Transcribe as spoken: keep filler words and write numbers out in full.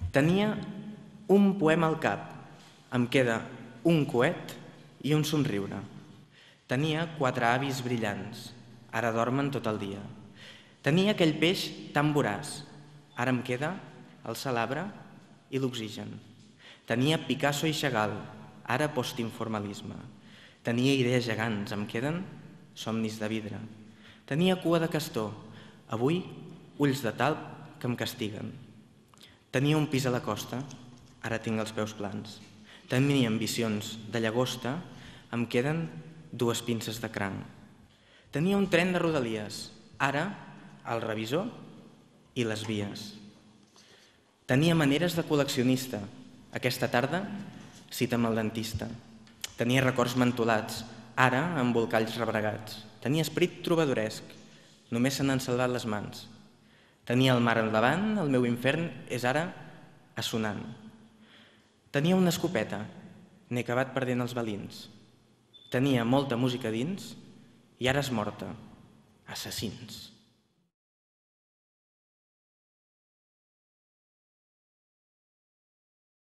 Tenia un poema al cap, em queda un coet i un somriure. Tenia quatre avis brillants, ara dormen tot el dia. Tenia aquell peix tan voraç, ara em queda el salabre i l'oxigen. Tenia Picasso i Chagall, ara postinformalisme. Tenia idees gegants, em queden somnis de vidre. Tenia cua de castor, avui ulls de talp que em castiguen. Tenia un pis a la costa, ara tinc els peus plans. Tenia ambicions de llagosta, em queden dues pinces de cranc. Tenia un tren de rodalies, ara el revisor i les vies. Tenia maneres de col·leccionista, aquesta tarda cita amb el dentista. Tenia records mentolats, ara embolcalls rebregats. Tenia esperit trobadoresc, només se n'han salvat les mans. Tenia el mar al davant, el meu infern és ara assonant. Tenia una escopeta, n'he acabat perdent els balins. Tenia molta música dins i ara és morta. Assassins.